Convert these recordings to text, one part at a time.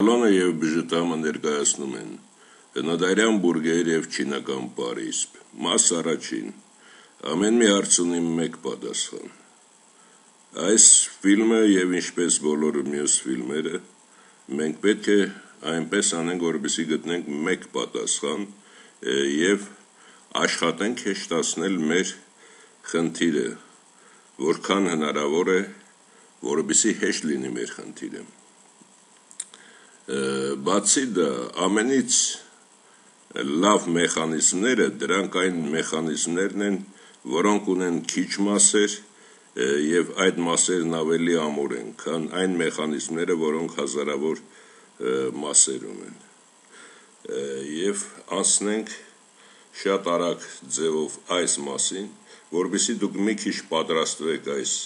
Ալանը և բժտամը ներկայացնում են հնադարյան բուրգեր և չինական պարիսպ, մաս առաջին, ամեն մի հարց ունի մեկ պատասխան։ Այս ֆիլմը և ինչպես բոլոր մյուս ֆիլմերը, մենք պետք է այնպես անենք, որպեսզի գտնենք մեկ պատասխան և աշխատենք հեշտացնել մեր խնդիրը, որքան հնարավոր է, որպեսզի հեշտ լինի մեր խնդիրը։ Բացի դա, ամենից լավ մեխանիզմները, դրանք այն մեխանիզմներն են, որոնք ունեն քիչ մասեր և այդ մասերն ավելի ամուր են, քան այն մեխանիզմները, որոնք հազարավոր մասեր ունեն։ Եվ անցնենք շատ արագ ձևով այս մասին, որպեսզի դուք մի քիչ պատրաստվեք այս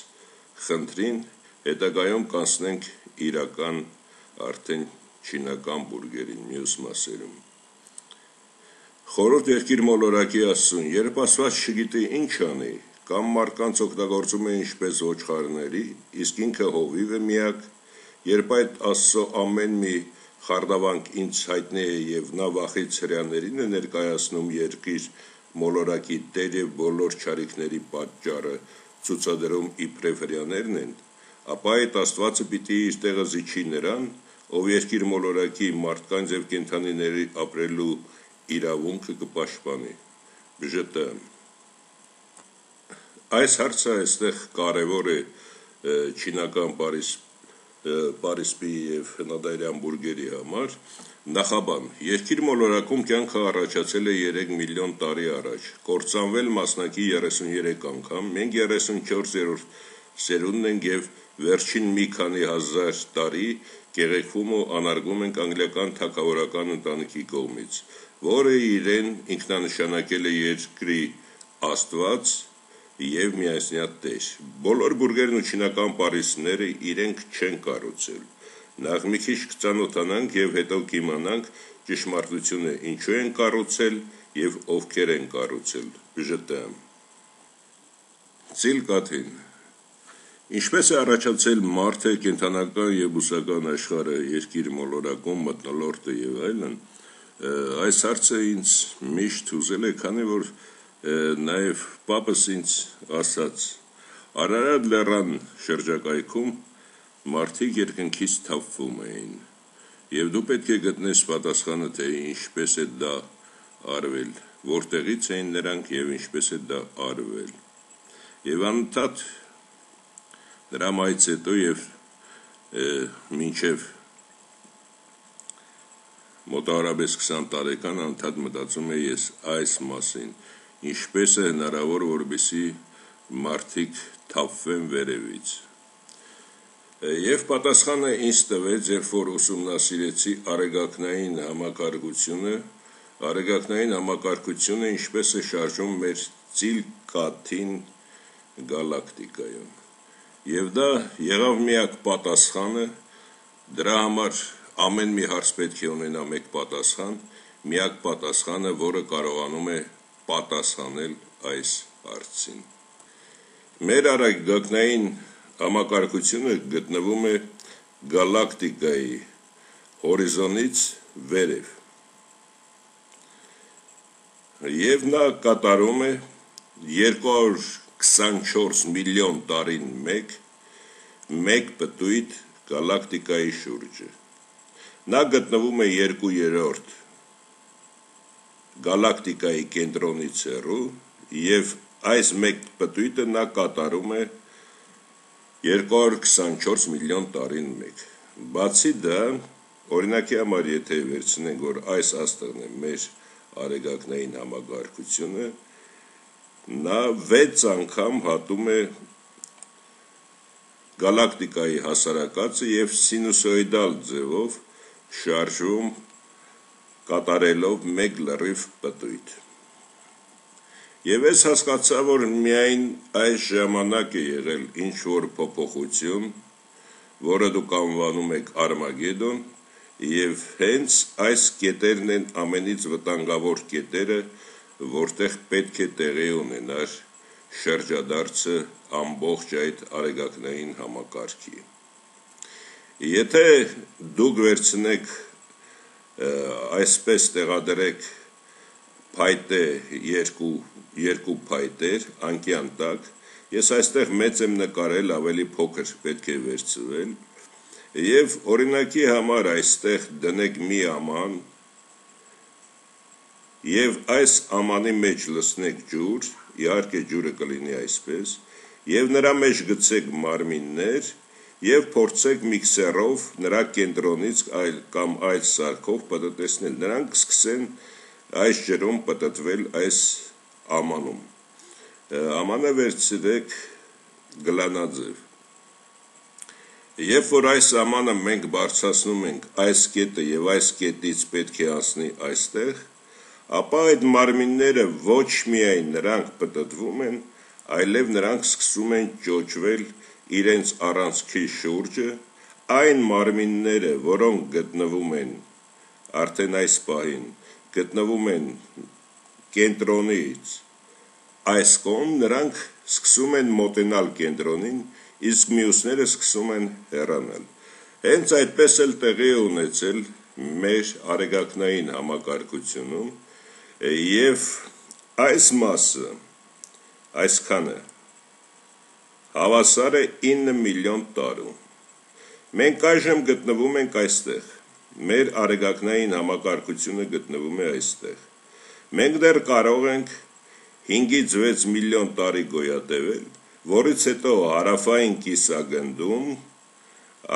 խնդրին, հետագայում կանցնենք իրական արդեն չինական բուրգերին, մյուս մասերում։ Խորհուրդ եղկիր մոլորակի Աստծուն, երբ Աստված չգիտի ինչ անի, կամ մարդկանց օգտագործում է ինչպես ոչխարների, իսկ ինքը հովիվ է միակ, երբ այդ Աստծո ամեն մի խարդավանք ինձ հայտնի է և նա վախից հրեաներին է ներկայացնում երկիր մոլորակի տեր և բոլոր չարիքների պատճառը ցուցադրում իբրև հրեաներն են, ապա այդ Աստվածը պիտի իր տեղը զիջի նրան, ով երկիր մոլորակի մարդկանց և կենդանիների ապրելու իրավունքը կպաշտպանի, բժտը։ Այս հարցը այստեղ կարևոր է չինական պարիսպի և հնադարյան բուրգերի համար, նախաբան, երկիր մոլորակում կյանքը առաջացել է 3 միլիոն տարի առաջ, կործանվել մասնակի 33 անգամ, մենք 34-րդ սերունդն ենք և վերջին մի քանի հազար տարի կեղեքվում ու անարգվում ենք անգլիական թագավորական ընտանիքի կողմից, որը իրեն ինքնանշանակել է երկրի Աստված և միասնյա Տեր։ Բոլոր բուրգերն ու չինական պարիսպները իրենք չեն կառուցել։ Նախ մի քիչ կծանոթանանք և հետո կիմանանք ճշմարտությունը ինչու են կառուցել և ովքեր են կառուցել, բժտը։ Ծիլ կաթին Ինչպես է առաջացել մարդը, կենդանական և բուսական աշխարհը, երկիր մոլորակում, մթնոլորտը և այլն, այս հարցը ինձ միշտ հուզել է, քանի որ նաև պապս ինձ ասաց. Արարատ լեռան շրջակայքում մարդիկ երկնքից թափվում էին, և դու պետք է գտնես պատասխանը, թե ինչպես է դա արվել, որտեղից էին նրանք և ինչպես է դա արվել։ Եվ անընդհատ նրա մահից հետո և մինչև մոտավորապես 20 տարեկան անընդհատ մտածում էի ես այս մասին, ինչպես է հնարավոր, որպեսզի մարդիկ թափվեն վերևից։ Եվ պատասխանը ինձ տվեց, երբ որ ուսումնասիրեցի արեգակնային համակարգությունը, ինչպես է շարժվում մեր ծիլ կաթին գալակտիկայում։ Եվ դա եղավ միակ պատասխանը, դրա համար ամեն մի հարց պետք է ունենա մեկ պատասխան, միակ պատասխանը, որը կարողանում է պատասխանել այս հարցին։ Մեր արեգակնային համակարգությունը գտնվում է գալակտիկայի հորիզոնից վերև, և նա կատարում է 224 միլիոն տարին մեկ պտույտ գալակտիկայի շուրջը։ Նա գտնվում է 2/3 գալակտիկայի կենտրոնից հեռու և այս մեկ պտույտը նա կատարում է 224 միլիոն տարին մեկ։ Բացի դա, օրինակի համար եթե վերցնենք, որ այս աստղն է մեր արեգակնային համակարգությունը, նա 6 անգամ հատում է գալակտիկայի հասարակածը և սինուսոիդալ ձևով շարժում կատարելով մեկ լրիվ պտույտ։ Եվ ես հասկացա, որ միայն այս ժամանակ է եղել ինչ-որ փոփոխություն, որը դուք անվանում եք Արմագեդոն, և հենց այս կետերն են ամենից վտանգավոր կետերը, որտեղ պետք է տեղի ունենար շրջադարձը ամբողջ այդ արեգակնային համակարգի։ Եթե դուք վերցնեք այսպես տեղադրեք փայտե երկու փայտեր անկյան տակ, ես այստեղ մեծ եմ նկարել, ավելի փոքր պետք է վերցվել, եւ օրինակի համար այստեղ դնեք մի աման եւ այս ամանի մեջ լցնեք ջուր, իհարկե ջուրը կլինի այսպես, եւ նրա մեջ գցեք մարմիններ եւ փորձեք միքսերով նրա կենտրոնից կամ այլ սարքով պտտեցնել, նրանք սկսեն այս ջրում պտտվել այս ամանում, ամանը վերցրեք գլանաձև, երբ որ այս ամանը մենք բարձրացնում ենք այս կետը եւ այս կետից պետք է անցնի այստեղ, ապա այդ մարմինները ոչ միայն նրանք պտտվում են, այլև նրանք սկսում են ճոճվել իրենց առանցքի շուրջը, այն մարմինները, որոնք գտնվում են արդեն այս պահին, գտնվում են կենտրոնից այս կողմ, նրանք սկսում են մոտենալ կենտրոնին, իսկ մյուսները սկսում են հեռանալ։ Հենց այդպես էլ տեղի է ունեցել մեր արեգակնային համակարգությունում, եւ այս մասը, այսքանը հավասար է 9 միլիոն տարու։ Մենք այժմ գտնվում ենք այստեղ, մեր արեգակնային համակարգությունը գտնվում է այստեղ։ Մենք դեռ կարող ենք 5-ից 6 միլիոն տարի գոյատևել, որից հետո հարավային կիսագնդում,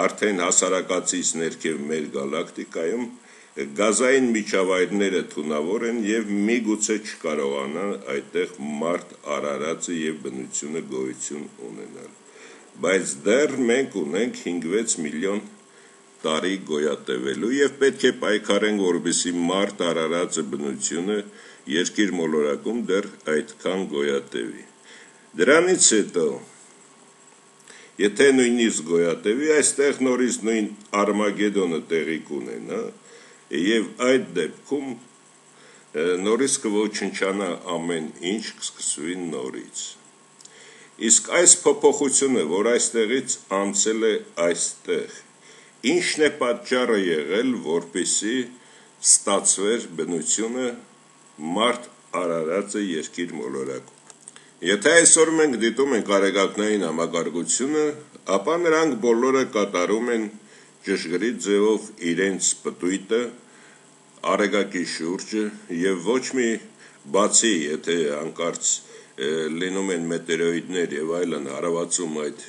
արդեն հասարակածից ներքև մեր գալակտիկայում, գազային միջավայրները թունավոր են եւ միգուցե չկարողանան այդտեղ մարդ արարածը եւ բնությունը գոյություն ունենալ, բայց դեռ մենք ունենք 5-6 միլիոն տարի գոյատևելու եւ պետք է պայքարենք, որպեսզի մարդ արարածը բնությունը երկիր մոլորակում դեռ այդքան գոյատևի։ Դրանից հետո, եթե նույնիսկ գոյատևի, այստեղ նորից նույն Արմագեդոնը տեղի կունենա, եւ այդ դեպքում նորից կոչնչանա ամեն ինչ, կսկսվի նորից։ Իսկ այս փոփոխությունը, որ այստեղից անցել է այստեղ, ինչն է պատճառը եղել, որպեսզի ստացվեր բնությունը մարդ արարածը երկիր մոլորակում։ Եթե այսօր մենք դիտում ենք արեգակնային համակարգությունը, ապա նրանք բոլորը կատարում են ճշգրիտ ձևով իրենց պտույտը արեգակի շուրջը եւ ոչ մի բացի, եթե հանկարծ լինում են մետեորիտներ եւ այլն հարվածում այդ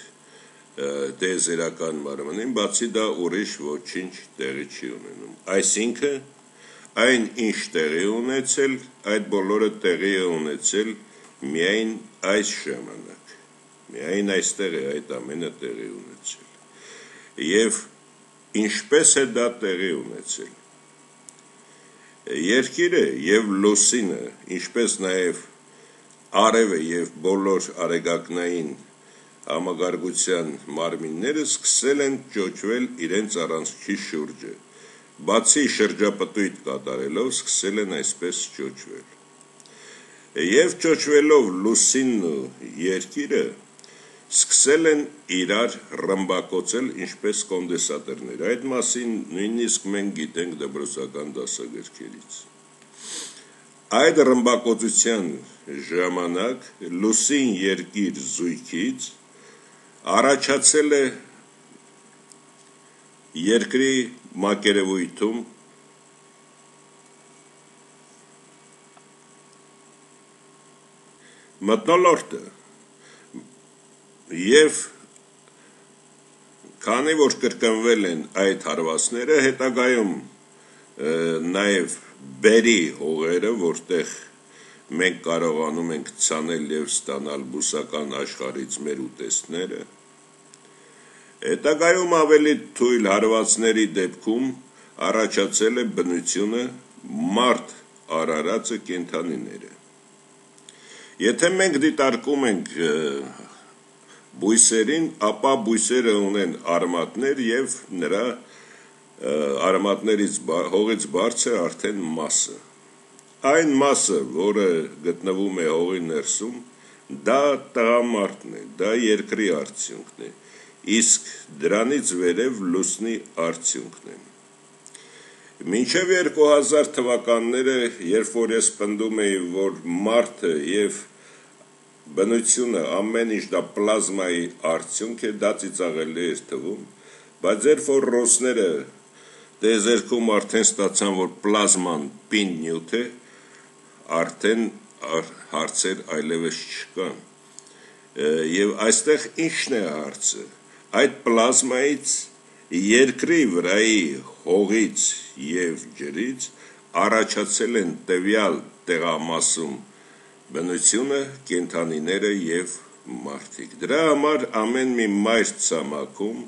տիեզերական մարմնին, բացի դա ուրիշ ոչինչ տեղի չի ունենում։ Այսինքն այն ինչ տեղի ունեցել, այդ բոլորը տեղի է ունեցել միայն այս ժամանակ, միայն այստեղ է այդ ամենը տեղի ունեցել։ Եվ ինչպես է դա տեղի ունեցել։ Երկիրը եւ լուսինը, ինչպես նաեւ արևը եւ բոլոր արեգակնային համագարգության մարմինները սկսել են ճոճվել իրենց առանցքի շուրջը, բացի շրջապտույտ կատարելով սկսել են այսպես ճոճվել։ Եվ ճոճվելով լուսինն ու երկիրը սկսել են իրար ռմբակոծել ինչպես կոնդենսատորներ, այդ մասին նույնիսկ մենք գիտենք դպրոցական դասագրքերից։ Այդ ռմբակոծության ժամանակ լուսին երկիր զույգից առաջացել է երկրի մակերևույթում մթնոլորտը եւ քանի որ կրկնվել են այդ հարվածները, հետագայում նաեւ բերի հողերը, որտեղ մենք կարողանում ենք ցանել եւ ստանալ բուսական աշխարհից մեր ուտեստները, հետագայում ավելի թույլ հարվածների դեպքում առաջացել է բնությունը մարդ արարածը կենդանիները։ Եթե մենք դիտարկում ենք բույսերին, ապա բույսերը ունեն արմատներ եւ նրա արմատներից հողից բարձր արդեն մասը։ Այն մասը, որը գտնվում է հողի ներսում, դա տղամարդն է, դա երկրի արդյունքն է։ իսկ դրանից վերև լուսնի արդյունքն է։ Մինչև 2000 թվականները, երբ որ ես պնդում էի, որ մարդը և բնությունը ամեն ինչ դա պլազմայի արդյունք է, դա ծիծաղելի էր թվում, բայց երբ որ ռուսները տիեզերքում արդեն ստացան, որ պլազման պինդ նյութ է, արդեն հարցեր այլևս չկան։ Եվ այստեղ ինչն է հարցը։ Այդ պլազմայից երկրի վրայի հողից և ջրից առաջացել են տվյալ տեղամասում բնությունը, կենդանիները և մարդիկ։ Դրա համար ամեն մի մայր ցամաքում,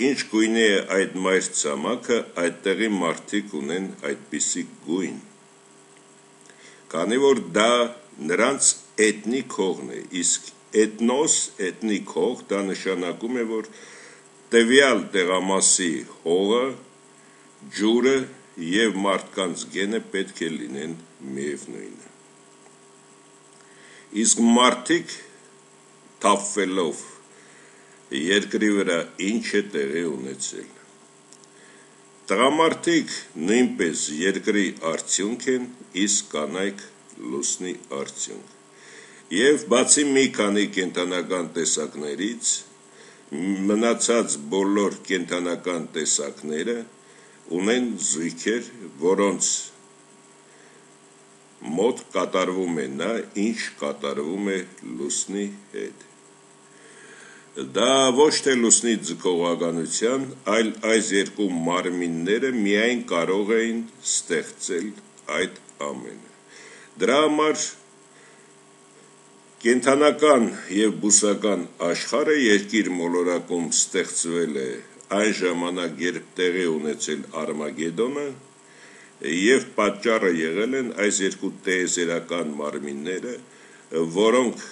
ինչ գույնի է այդ մայր ցամաքը, այդտեղի մարդիկ ունեն այդպիսի գույն, քանի որ դա նրանց էթնիկ հողն է, իսկ էթնոս, էթնիկ հող, դա նշանակում է, որ տվյալ տեղամասի հողը, ջուրը և մարդկանց գենը պետք է լինեն միևնույնը։ Իսկ մարդիկ թափվելով երկրի վրա ինչ է տեղի ունեցել։ Տղամարդիկ նույնպես երկրի արդյունք են, իսկ կանայք լուսնի արդյունք։ Եվ բացի մի քանի կենդանական տեսակներից, մնացած բոլոր կենդանական տեսակները ունեն զույգեր, որոնց մոտ կատարվում է նա, ինչ կատարվում է լուսնի հետ։ Դա ոչ թե լուսնի ձգողականության, այլ այս երկու մարմինները միայն կարող էին ստեղծել այդ ամենը։ Դրա համար կենդանական և բուսական աշխարհը երկիր մոլորակում ստեղծվել է այն ժամանակ, երբ տեղի ունեցել Արմագեդոնը, և պատճառը եղել են այս երկու տիեզերական մարմինները, որոնք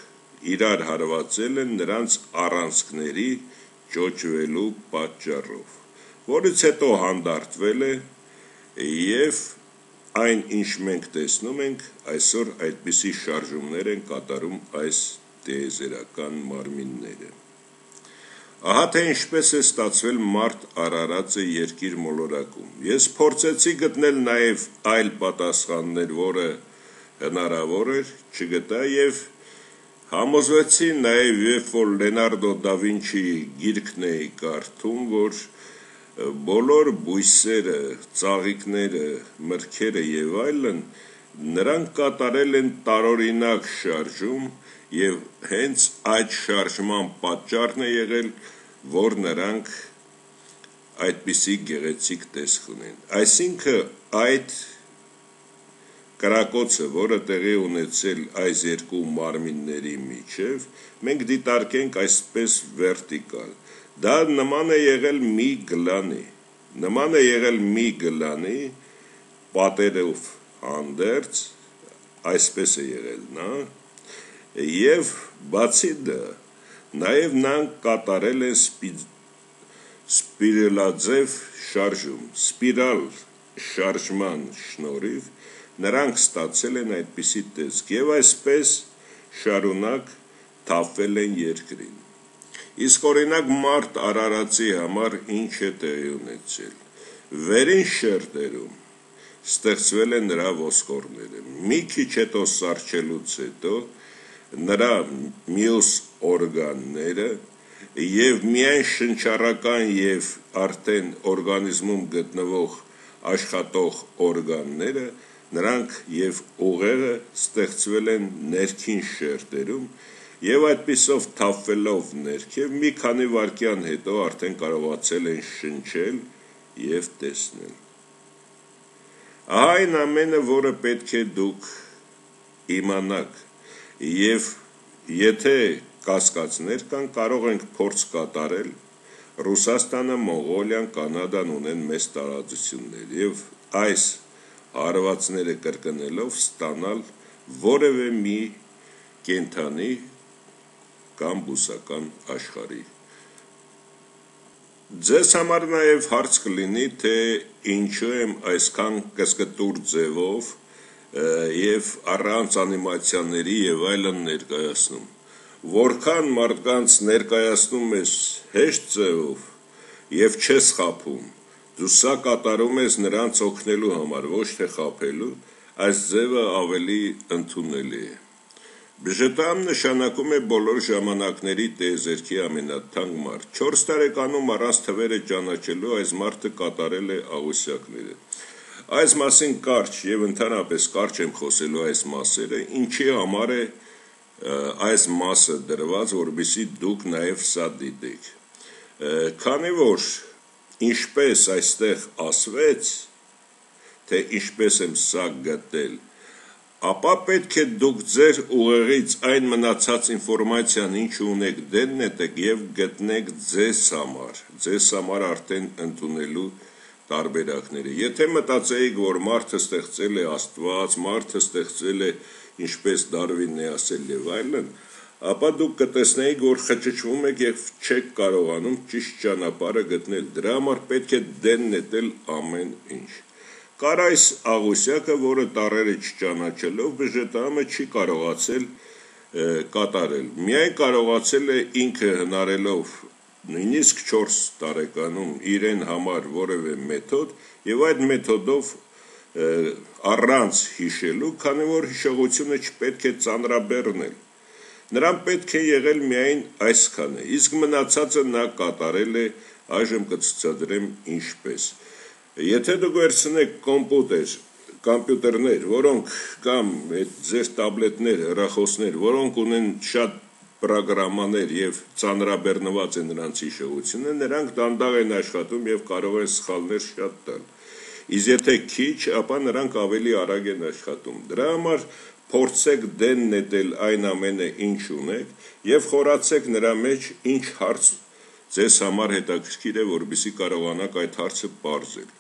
իրար հարվածել են նրանց առանցքների ճոճվելու պատճառով, որից հետո հանդարտվել է և այն, ինչ մենք տեսնում ենք, այսօր այդպիսի շարժումներ են կատարում այս տիեզերական մարմինները։ Ահա թե ինչպես է ստացվել մարդ արարածը երկիր մոլորակում։ Ես փորձեցի գտնել նաև այլ պատասխաններ, որը հնարավոր էր, չգտա և համոզվեցի նաև, երբ որ Լեոնարդո դա Վինչիի գիրքն էի կարդում, որ բոլոր բույսերը, ծաղիկները, մրգերը և այլն, նրանք կատարել են տարօրինակ շարժում և հենց այդ շարժման պատճառն է եղել, որ նրանք այդպիսի գեղեցիկ տեսք ունեն։ Այսինքն այդ կրակոցը, որը տեղի ունեցել այս երկու մարմինների միջև, մենք դիտարկենք այսպես վերտիկալ։ Դա նման է եղել մի գլանի, պատերով հանդերձ, այսպես է եղել նա, և բացի դա, նաև նրանք կատարել են սպիրալաձև շարժում, սպիրալ շարժման շնորհիվ նրանք ստացել են այդպիսի տեսք և այսպես շարունակ թափվել են երկրին։ Իսկ օրինակ մարդ արարածի համար ինչ է տեղի ունեցել։ Վերին շերտերում ստեղծվել են նրա ոսկորները, մի քիչ հետո սառչելուց հետո նրա մյուս օրգանները և միայն շնչառական և արդեն օրգանիզմում գտնվող աշխատող օրգանները, նրանք և ուղեղը ստեղծվել են ներքին շերտերում և այդպիսով թափվելով ներքև մի քանի վայրկյան հետո արդեն կարողացել են շնչել և տեսնել։ Ահա այն ամենը, որը պետք է դուք իմանաք, և եթե կասկածներ կան, կարող ենք փորձ կատարել, Ռուսաստանը, Մոնղոլիան, Կանադան ունեն մեծ տարածություններ և այս հարվածները կրկնելով ստանալ որևէ մի կենդանի կամ բուսական աշխարհի։ Ձեզ համար նաև հարց կլինի, թե ինչու եմ այսքան կսկտուր ձևով և առանց անիմացիաների և այլն ներկայացնում։ որքան մարդկանց ներկայացնում ես հեշտ ձևով եւ չես խափում, դու սա կատարում ես նրանց օգնելու համար, ոչ թե խափելու, այս ձևը ավելի ընդունելի է։ Բժետամ նշանակում է բոլոր ժամանակների տիեզերքի ամենաթանկ մարդ։ 4 տարեկանում առանց թվերը ճանաչելու այս մարդը կատարել է աղյուսակները։ Այս մասին կարճ եւ ընդհանրապես կարճ եմ խոսելու այս մասերը, ինչի համար է այս մասը դրված, որովհետեւ դուք նաեւ սա դիտեք։ Քանի որ ինչպես այստեղ ասվեց, թե ինչպես եմ սա գտել, ապա պետք է դուք ձեր ուղեղից այն մնացած ինֆորմացիան, ինչ ունեք, դեն նետեք եւ գտնեք ձեզ համար արդեն ընդունելու տարբերակները։ Եթե մտածեիք, որ մարդը ստեղծել է Աստված, մարդը ստեղծել է ինչպես Դարվինն է ասել եւ այլն, ապա դուք կտեսնեիք, որ խճճվում եք եւ չեք կարողանում ճիշտ ճանապարհը գտնել։ Դրա համար պետք է դեն նետել ամեն ինչ։ Կար այս աղյուսակը, որը տառերը չճանաչելով բժետամը չի կարողացել կատարել։ Միայն կարողացել է ինքը հնարելով նույնիսկ 4 տարեկանում իրեն համար որևէ մեթոդ եւ այդ մեթոդով առանց հիշելու, քանի որ հիշողությունը չպետք է ծանրաբեռնել։ Նրան պետք է եղել միայն այսքանը, իսկ մնացածը նա կատարել է, այժմ կցուցադրեմ ինչպես։ Եթե դուք վերցնեք կոմպյուտերներ, որոնք կամ ձեր տաբլետներ, հեռախոսներ, որոնք ունեն շատ պրոգրամաներ եւ ծանրաբեռնված է նրանց հիշողությունը, նրանք դանդաղ են աշխատում եւ կարող են սխալներ շատ տալ։ Իսկ եթե քիչ, ապա նրանք ավելի արագ են աշխատում։ Դրա համար փորձեք դեն նետել այն ամենը, ինչ ունեք եւ խորացեք նրա մեջ ինչ հարց ձեզ համար հետաքրքիր է, որպեսզի կարողանաք այդ հարցը պարզել։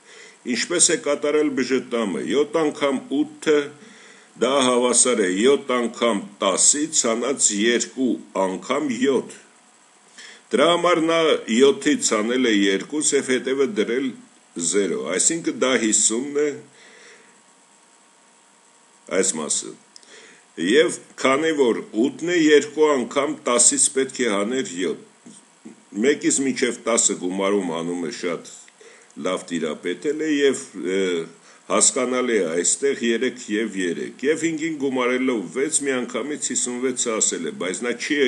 Ինչպես է կատարել բժետամը 7 անգամ 8-ը դա հավասար է 7 անգամ 10-ից ցանած 2 անգամ 7։ Դրա համար նա 7-ից ցանել է 2 եւ հետևը դրել 0, այսինքն դա 50-ն է այս մասը։ Եվ քանի որ 8-ն է 2 անգամ 10-ից պետք է հաներ 7։ 1-ից մինչև 10-ը գումարում հանում է շատ լավ տիրապետել է եւ հասկանալի է այստեղ 3 եւ 3 եւ 5-ին գումարելով 6 միանգամից 56-ը ասել է, բայց նա չի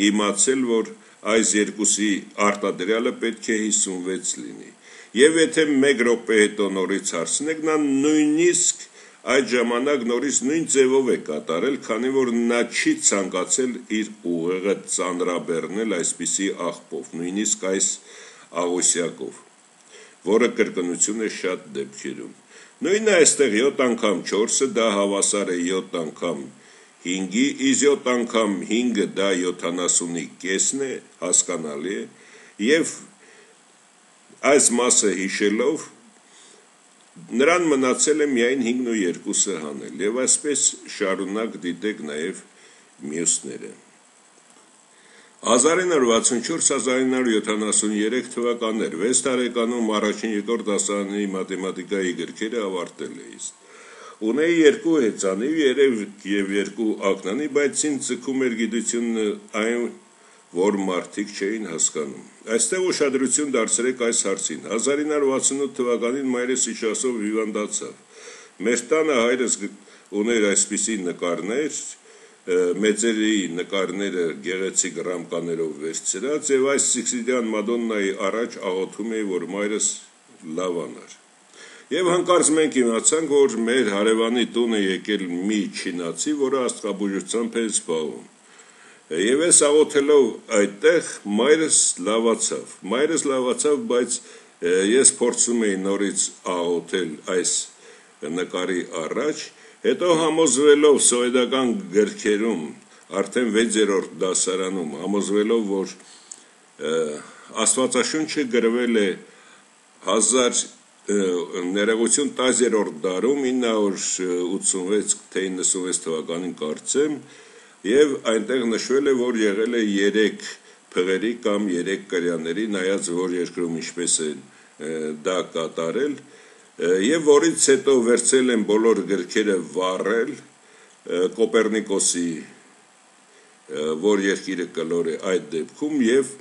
իմացել, որ այս երկուսի արտադրյալը պետք է 56 լինի։ Եվ եթե 1 րոպե հետո նորից հարցնեք, նա նույնիսկ այդ ժամանակ նորից նույն ձևով է կատարել, քանի որ նա չի ցանկացել իր ուղեղը ծանրաբեռնել այսպիսի աղբով, նույնիսկ այս աղյուսակով, որը կրկնություն է շատ դեպքերում։ Նույնը այստեղ 7 անգամ 4-ը դա հավասար է 7 անգամ 5-ի, իսկ 7 անգամ 5-ը դա 70-ի կեսն է, հասկանալի է, եւ այս մասը հիշելով նրան մնացել է միայն 5-ն ու 2-ը հանել, եւ այսպես շարունակ դիտեք նաեւ մյուսները։ 1964-1973 թվականներ 6 տարեկանում առաջին երկրորդ դասարանի մաթեմատիկայի գրքերը ավարտել էի։ Ունեի 2 հեծանիվ, 3 եւ 2 ակնանի, բայց ինձ ձգում էր գիտությունը այն, որ մարդիկ չէին հասկանում։ Այստեղ ուշադրություն դարձրեք այս հարցին։ 1968 թվականին մայրս իշխասով հիվանդացավ։ Մեր տանը հայրս ուներ այսպիսի նկարներ, մեծերի նկարները գեղեցիկ ռամկաներով վերցրած եւ այս Սիքսիդյան Մադոննայի առաջ աղոթում էի, որ մայրս լավանար։ Եվ հանկարծ մենք իմացանք, որ մեր հարևանի տուն է եկել մի չինացի, որը աստղաբուժությամբ է զբաղվում։ Եվ ես աղոթելով այդտեղ մայրս լավացավ, բայց ես փորձում էի նորից աղոթել այս նկարի առաջ, հետո համոզվելով սովետական գրքերում, արդեն 6-րդ դասարանում, համոզվելով, որ Աստվածաշունչը գրվել է 1000 դարում 986 թե 96 թվականին կարծեմ, եւ այնտեղ նշվել է, որ եղել է 3 փղերի կամ 3 կրյաների, նայած որ երկրում ինչպես է դա կատարել, եւ որից հետո վերցել են բոլոր գրքերը վառել Կոպեռնիկոսի որ երկիրը կլորի այդ դեպքում եւ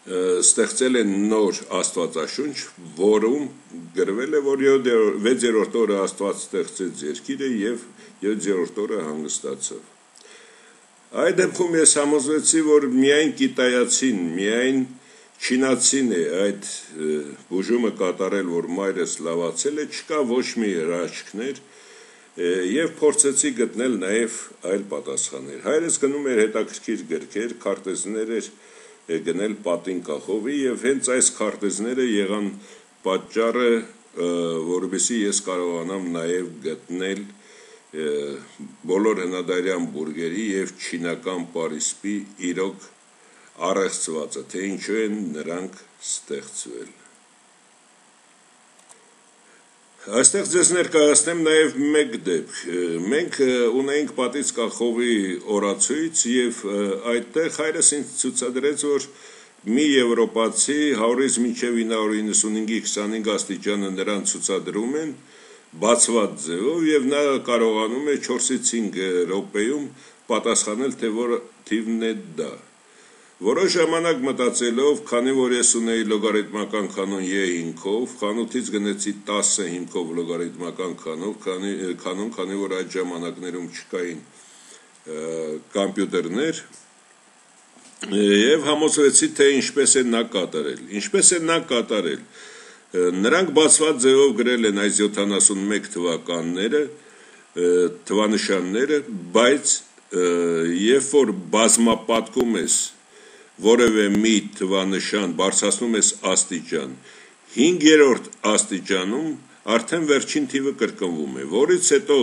ստեղծել են նոր աստվածաշունչ, որում գրվել է, որ 6-րդ օրը Աստված ստեղծեց երկիրը եւ 7-րդ օրը հանգստացավ։ Այդ դեպքում ես համոզվեցի, որ միայն կիտայացին, միայն չինացին է այդ բուժումը կատարել, որ մայրս լավացել է, չկա ոչ մի հրաշքներ եւ փորձեցի գտնել նաեւ այլ պատասխաններ։ Հայրս գնում էր հետաքրքիր գրքեր, քարտեզներ էր գնել պատին կախովի եւ հենց այս քարտեզները եղան պատճառը, որովհետեւ ես կարողանամ նաեւ գտնել բոլոր հնադարյան բուրգերի եւ չինական պարիսպի իրոք առեղծվածը, թե ինչու են նրանք ստեղծվել։ Այստեղ ձեզ ներկայացնեմ նաև մեկ դեպք։ Մենք ունենք պատից կախովի օրացույց եւ այդտեղ հայրս ինձ ցուցադրեց, որ մի եվրոպացի 100-ից մինչև 995-ի 25 աստիճանը նրան ցուցադրում են բացված ձևով եւ նա կարողանում է 4-ից 5 րոպեում պատասխանել, թե որ թիվն է դա։ Որոշ ժամանակ մտածելով, քանի որ ես ունեի լոգարիթմական կանոն Y5-ով, խանութից գնեցի 10 հիմքով լոգարիթմական կանոն, քանի որ այդ ժամանակներում չկային կոմպյուտերներ, եւ համոզվեցի, թե ինչպես է նա կատարել։ Ինչպես է նա կատարել։ Նրանք բացված ձևով գրել են այս 71 թվականները, թվանշանները, բայց երբ որ բազմապատկում ես որևէ մի թվանշան բարձրացնում ես աստիճան, 5-րդ աստիճանում արդեն վերջին թիվը կրկնվում է, որից հետո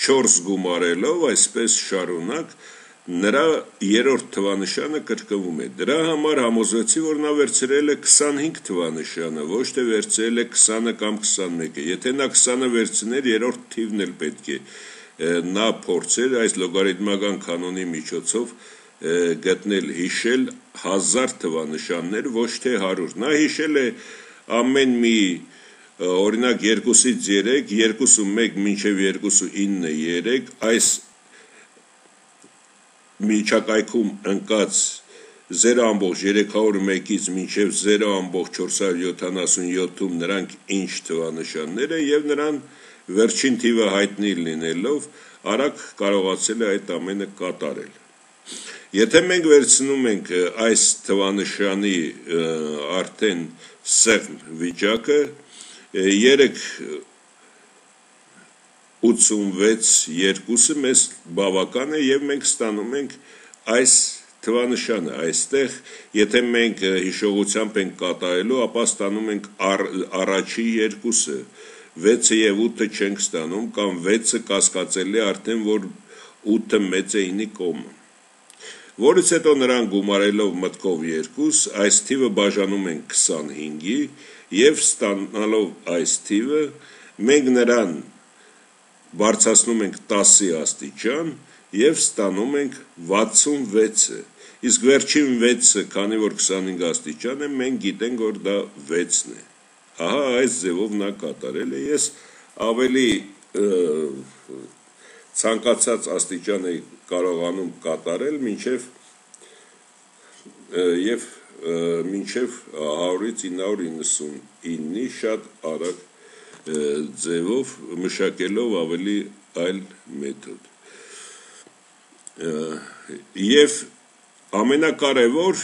4 գումարելով, այսպես շարունակ, նրա 3-րդ թվանշանը կրկնվում է։ Դրա համար համոզվեցի, որ նա վերցրել է 25 թվանշանը, ոչ թե վերցրել է 20-ը կամ 21-ը։ Եթե նա 20-ը վերցներ, 3-րդ թիվն էլ պետք է նա փորձեր այս լոգարիթմական կանոնի միջոցով գտնել, հիշել 1000 թվանշաններ, ոչ թե 100։ Նա հիշել է ամեն մի, օրինակ 2-ից 3, 2-1 մինչև 2-9 3, այս միջակայքում ընկած 0.301-ից մինչև 0.477-ում նրանք ինչ թվանշաններ են եւ նրան վերջին թիվը հայտնի լինելով արագ կարողացել է այդ ամենը կատարել։ Եթե մենք վերցնում ենք այս թվանշանի արդեն սեղմ վիճակը 3.86 2-ը մեզ բավական է եւ մենք ստանում ենք այս թվանշանը այստեղ, եթե մենք հիշողությամբ ենք կատարելու, ապա ստանում ենք առաջի 2-ը, 6-ը եւ 8-ը չենք ստանում, կամ 6-ը կասկածելի արդեն, որ 8-ը մեծ է 9-ի կոմը։ Որից հետո նրան գումարելով մտքով 2, այս թիվը բաժանում ենք 25-ի եւ ստանալով այս թիվը, մենք նրան բարձրացնում ենք 10-ի աստիճան եւ ստանում ենք 66-ը։ Իսկ վերջին 6-ը, քանի որ 25 աստիճան է, մենք գիտենք, որ դա 6-ն է։ Ահա այս ձևով նա կատարել է։ Ես ավելի ցանկացած աստիճան է կարողանում կատարել մինչև 100-ից 999-ի շատ արագ ձևով մշակելով ավելի այլ մեթոդ։ Եվ ամենակարևոր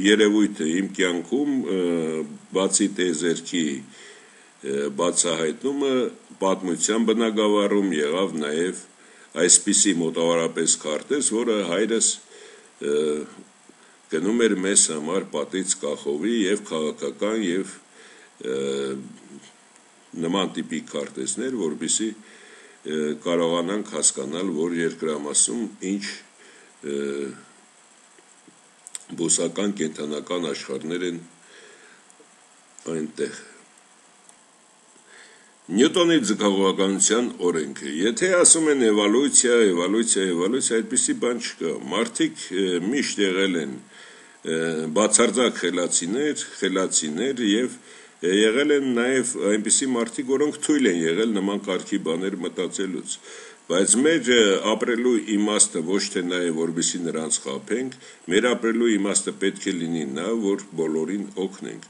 երևույթը իմ կյանքում բացի տեզերքի բացահայտումը պատմության բնագավառում եղավ նաև այսպիսի մոտավորապես քարտեզ, որը հայրս գնում էր մեզ համար պատից կախովի եւ քաղաքական եւ նման տիպի քարտեզներ, որպեսզի կարողանանք հասկանալ, որ երկրամասում ինչ բուսական կենդանական աշխարհներ են այնտեղ։ Նյուտոնի ձգողականության օրենքը։ Եթե ասում են էվոլյուցիա, այդպիսի բան չկա։ Մարդիկ միշտ եղել են բացարձակ խելացիներ եւ եղել են նաեւ այնպիսի մարդիկ, որոնք թույլ են եղել նման կարգի բաներ մտածելուց։ Բայց մեր ապրելու իմաստը ոչ թե նա է, որպեսզի նրանց խաբենք, մեր ապրելու իմաստը պետք է լինի նա, որ բոլորին օգնենք։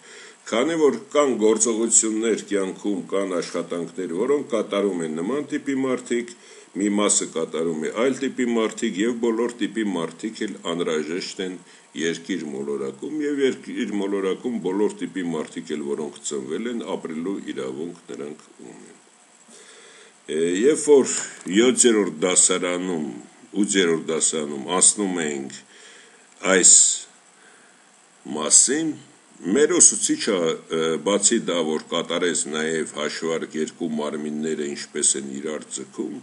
Քանի որ կան գործողություններ կյանքում, կան աշխատանքներ, որոնք կատարում են նման տիպի մարդիկ, մի մասը կատարում է այլ տիպի մարդիկ եւ բոլոր տիպի մարդիկ էլ անհրաժեշտ են երկիր մոլորակում եւ երկիր մոլորակում բոլոր տիպի մարդիկ էլ, որոնք ծնվել են, ապրելու իրավունք նրանք ունեն։ Երբ որ 7-րդ դասարանում, 8-րդ դասարանում ասնում ենք այս մասին, մեր ուսուցիչը բացի դա, որ կատարեց նաև հաշվարկ երկու մարմինները ինչպես են իրար ձգում,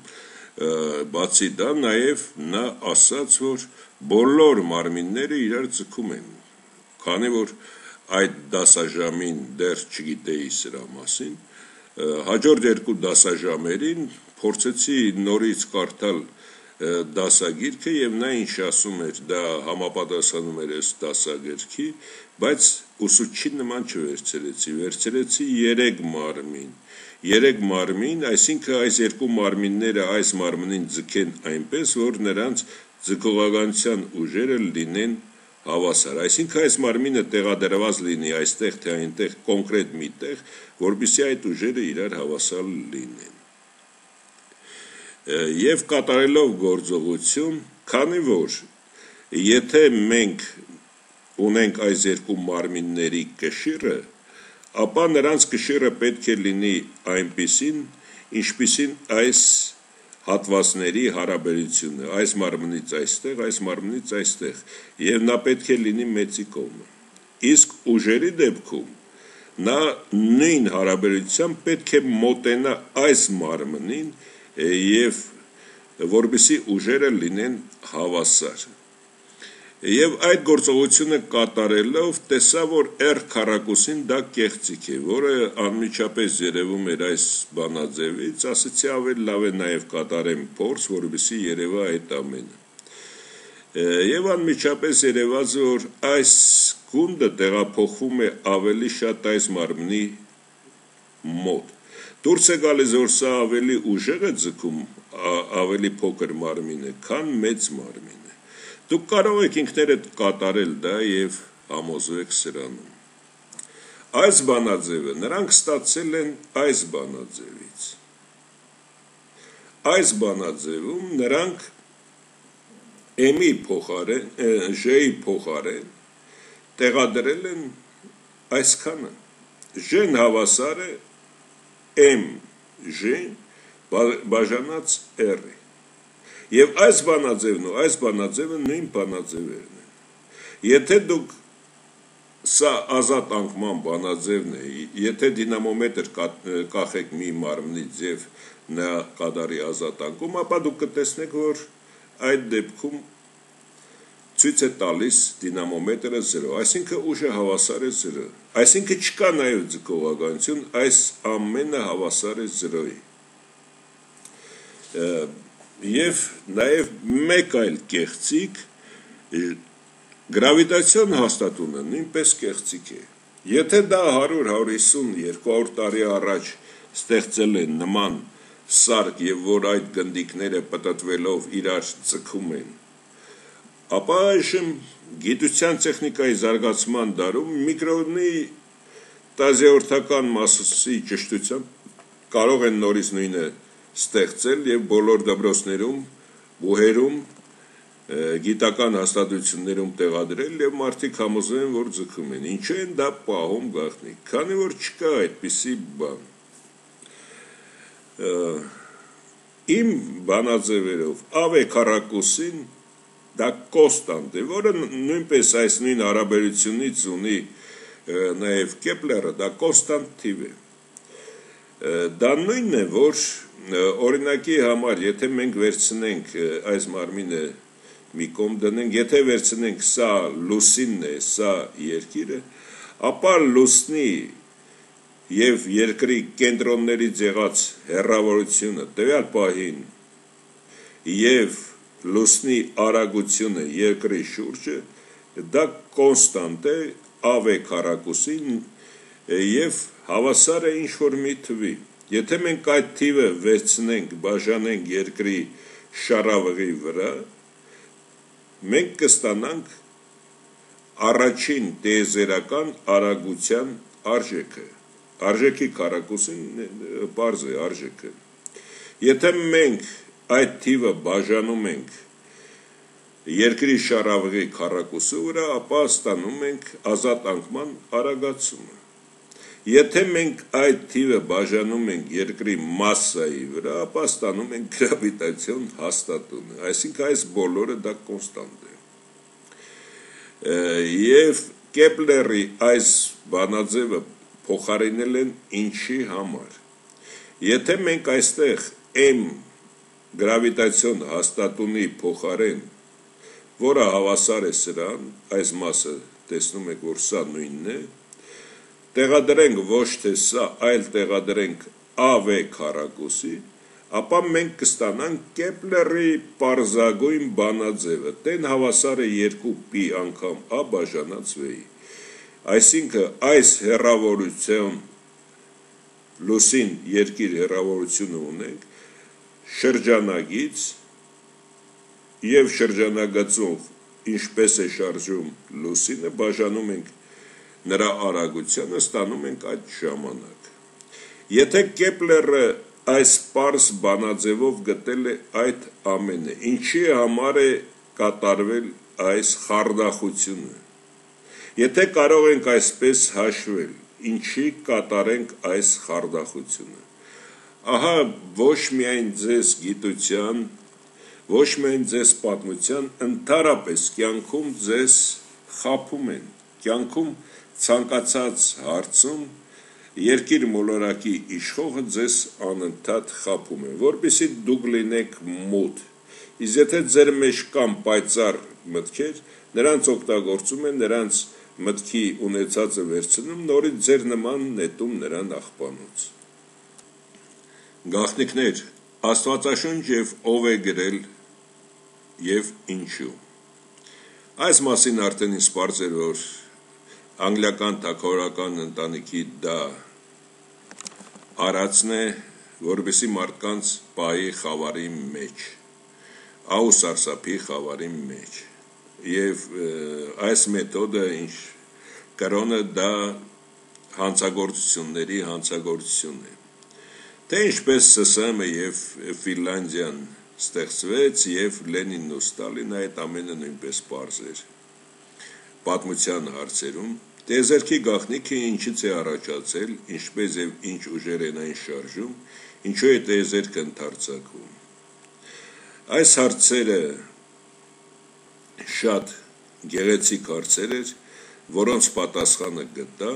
բացի դա նաև նա ասաց, որ բոլոր մարմինները իրար ձգում են, քանի որ այդ դասաժամին դեռ չգիտեի սրա մասին, հաջորդ երկու դասաժամերին փորձեցի նորից կարդալ դասագիրքը եւ նա ինչ ասում էր, դա համապատասխանում էր այս դասագրքի, բայց ուսուցչի նման չվերցրեցի, վերցրեցի 3 մարմին, այսինքն այս երկու մարմինները այս մարմնին ձգեն այնպես, որ նրանց ձգողականության ուժերը լինեն հավասար, այսինքն այս մարմինը տեղադրված լինի այստեղ թե այնտեղ կոնկրետ մի տեղ, որպեսզի այդ ուժերը իրար հավասար լինեն։ Եվ կատարելով գործողություն, քանի որ եթե մենք ունենք այս երկու մարմինների կշիռը, ապա նրանց կշիռը պետք է լինի այնպիսին, ինչպիսին այս հատվածների հարաբերությունը, այս մարմնից այստեղ, եւ նա պետք է լինի մեծի կողմը։ Իսկ ուժերի դեպքում նա նույն հարաբերությամբ պետք է մոտենա այս մարմնին եւ որպեսզի ուժերը լինեն հավասար։ Եվ այդ գործողությունը կատարելով տեսա, որ R քառակուսին դա կեղծիք է, որը անմիջապես երևում էր այս բանաձևից, ասացի ավելի լավ է նաև կատարեմ փորձ, որպեսզի երևա այդ ամենը։ Եվ անմիջապես երևաց, որ այս գունդը տեղափոխվում է ավելի շատ այս մարմնի մոտ։ Դուրս է գալիս, որ սա ավելի ուժեղ է ձգում, ավելի փոքր մարմին է, քան մեծ մարմին։ Դուք կարող եք ինքներդ կատարել դա եւ համոզվեք սրանում։ Այս բանաձևը նրանք ստացել են այս բանաձևից։ Այս բանաձևում նրանք M-ի փոխարեն, J-ի փոխարեն տեղադրել են այսքանը։ J-ն հավասար է M J բաժանած R-ի։ Եվ այս բանաձևն ու այս բանաձևը նույն բանաձևերն են։ Եթե դուք սա ազատ անկման բանաձևն է, եթե դինամոմետր կախեք մի մարմնից եւ նա կատարի ազատ անկում, ապա դուք կտեսնեք, որ այդ դեպքում ցույց է տալիս դինամոմետրը 0, այսինքն ուժը հավասար է 0, այսինքն չկա նաեւ ձգողականություն, այս ամենը հավասար է 0-ի։ Եվ նաև մեկ այլ կեղծիք, գրավիտացիոն հաստատունը նույնպես կեղծիք է։ Եթե դա 100-150, 200 տարի առաջ ստեղծել են նման սարք եւ որ այդ գնդիկները պտտվելով իրար ձգում են, ապա այժմ գիտության տեխնիկայի զարգացման դարում միկրոնի տազիորդական մասսի ճշտությամբ կարող են նորից նույնը ստեղծել եւ բոլոր դպրոցներում, բուհերում, գիտական հաստատություններում տեղադրել եւ մարդիկ համոզեն, որ ձգում են։ Ինչու են դա պահում գաղտնի, քանի որ չկա այդպիսի բան։ Իմ բանաձևերով ավ քառակուսին դա կոնստանտ է, որը նույնպես այս նույն հարաբերությունից ունի նաեւ Կեպլերը, դա կոնստանտ թիվ է։ Դա նույնն է, որ օրինակի համար, եթե մենք վերցնենք այս մարմինը մի կողմ դնենք, եթե վերցնենք սա լուսինն է, սա երկիրը, ապա լուսնի եւ երկրի կենտրոններից եղած հեռավորությունը տվյալ պահին եւ լուսնի արագությունը երկրի շուրջը դա կոնստանտ է ավ քառակուսին եւ հավասար է ինչ որ մի թվի։ Եթե մենք այդ թիվը վերցնենք, բաժանենք երկրի շարավղի վրա, մենք կստանանք առաջին տիեզերական արագության արժեքը, արժեքի քառակուսին պարզ է արժեքը, եթե մենք այդ թիվը բաժանում ենք երկրի շարավղի քառակուսի վրա, ապա ստանում ենք ազատ անկման արագացումը, եթե մենք այդ թիվը բաժանում ենք երկրի մասսայի վրա, ապա ստանում ենք գրավիտացիոն հաստատումը, այսինքն այս բոլորը դա կոնստանտ է, և Կեպլերի այս բանաձևը փոխարինել են ինչի համար, եթե մենք այստեղ M գրավիտացիոն հաստատունի փոխարեն, որը հավասար է սրան, այս մասը տեսնում եք, որ սա նույնն է, տեղադրենք ոչ թե սա, այլ տեղադրենք AV քառակուսի, ապա մենք կստանանք Կեպլերի պարզագույն բանաձևը, տեն հավասար է 2π անգամ A բաժանած V-ի, այսինքն այս հեռավորություն, լուսին երկիր հեռավորությունը ունենք, շրջանագից և շրջանագծով ինչպես է շարժում լուսինը, բաժանում ենք նրա արագությանը, ստանում ենք այդ ժամանակ, եթե Կեպլերը այս պարզ բանաձևով գտել է այդ ամենը, ինչի համար է կատարվել այս խարդախությունը, եթե կարող ենք այսպես հաշվել, ինչի կատարենք այս խարդախությունը, ահա ոչ միայն ձեզ գիտության, ոչ միայն ձեզ պատմության, ընդհանրապես կյանքում ձեզ խաբում են, կյանքում ցանկացած հարցում երկիր մոլորակի իշխողը ձեզ անընդհատ խաբում է, որպեսզի դուք լինեք մոտ, իսկ եթե ձեր մեջ կան պայծառ մտքեր, նրանց օգտագործում են, նրանց մտքի ունեցածը վերցնում, նորից ձեր նման նետում նրան աղբանոց։ Գաղտնիքներ, Աստվածաշունչ և ով է գրել և ինչու։ Այս մասին արդեն ինձ պարզ էր, որ անգլիական թագավորական ընտանիքի դա արածն է, որպեսզի մարդկանց պահի խավարի մեջ, ահ ու սարսափի խավարի մեջ, և այս մեթոդը ինչ կրոնը դա հանցագործությունների հանցագործություն է, թե ինչպես ՍՍՄ և Ֆինլանդիան ստեղծվեց և Լենինն ու Ստալինը, այդ ամենը նույնպես պարզ էր պատմության հարցերում, տիեզերքի գաղտնիքը ինչից է առաջացել, ինչպես և ինչ ուժեր են այն շարժում, ինչու է տիեզերքը ընդարձակվում։ Այս հարցերը շատ գեղեցիկ հարցեր էր, որոնց պատասխանը գտա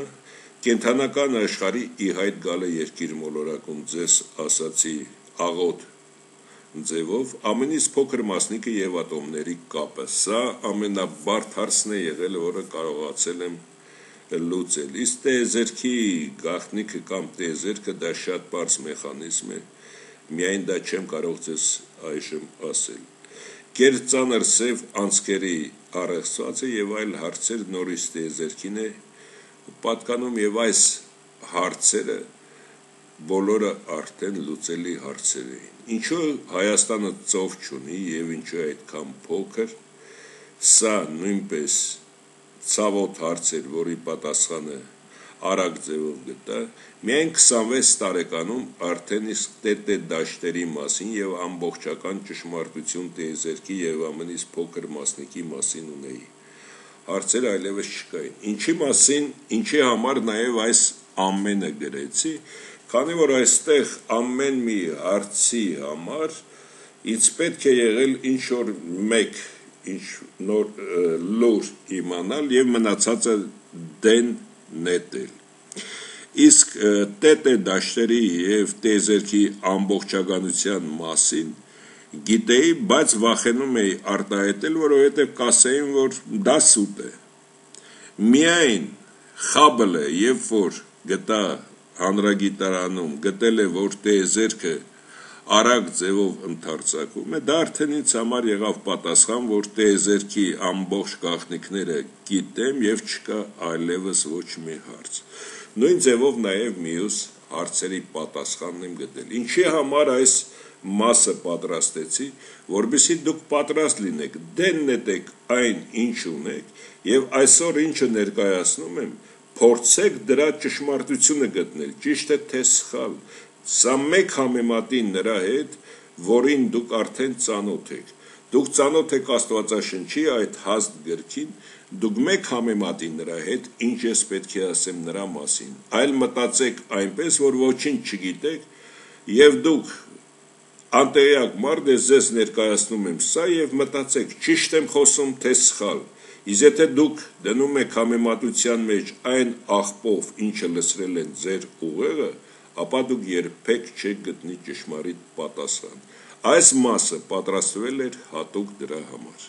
կենդանական աշխարհի ի հայտ գալը երկիր մոլորակում, ձեզ ասացի աղոտ ձևով, ամենից փոքր մասնիկը և ատոմների կապը, սա ամենաբարդ հարցն է եղել, որը կարողացել եմ լուծել, իսկ տիեզերքի գաղտնիքը կամ տիեզերքը դա շատ պարզ մեխանիզմ է, միայն դա չեմ կարող ձեզ այժմ ասել, կերծանր սև անցքերի առեղծվածը և այլ հարցեր նորից տիեզերքին է պատկանում և այս հարցերը բոլորը արդեն լուծելի հարցեր էին, ինչու Հայաստանը ծով չունի և ինչու այդքան փոքր, սա նույնպես ցավոտ հարց էր, որի պատասխանը արագ ձևով գտա, միայն 26 տարեկանում արդեն իսկ տետե դաշտերի մասին և ամբողջական ճշմարտություն տիեզերքի և ամենից փոքր մասնիկի մասին ունեի, հարցեր այլևս չկային, ինչի մասին, ինչի համար նաև այս ամենը գրեցի, քանի որ այստեղ ամեն մի հարցի համար ինձ պետք է եղել ինչ-որ մեկ ինչ-որ լուր իմանալ և մնացածը դեն նետել, իսկ տետե դաշտերի և տիեզերքի ամբողջականության մասին գիտեի, բայց վախենում էի արտահայտել, որովհետև կասեին, որ դա սուտ է, միայն Խաբլը, երբ որ գտա հանրագիտարանում, գտել է, որ տիեզերքը արագ ձևով ընդարձակվում է, դա արդեն ինձ համար եղավ պատասխան, որ տիեզերքի ամբողջ գաղտնիքները գիտեմ և չկա այլևս ոչ մի հարց, նույն ձևով նաև մյուս հարցերի պատասխանն եմ գտել։ Ինչի համար այս մասը պատրաստեցի, որովհետեւ դուք պատրաստ լինեք, դեն նետեք այն, ինչ ունեք, եւ այսօր ինչը ներկայացնում եմ, փորձեք դրա ճշմարտությունը գտնել, ճիշտ է թե սխալ։ Սա մեկ համեմատին նրա հետ, որին դուք արդեն ծանոթ եք։ Դուք ծանոթ եք Աստվածաշնչի այդ հաստ գրքին, դուք մեկ համեմատին նրա հետ, ինչ ես պետք է ասեմ նրա մասին։ Այլ մտածեք այնպես, որ ոչինչ չգիտեք, եւ դուք անտեղյակ մարդ ես, ձեզ ներկայացնում եմ սա եւ մտածեք, ճիշտ եմ խոսում, թե սխալ։ Իսկ եթե դուք դնում եք համեմատության մեջ այն աղբով, ինչը լսրել են ձեր ուղեղը, ապա դուք երբեք չեք գտնի ճշմարիտ պատասխան։ Այս մասը պատրաստվել էր հատուկ դրա համար։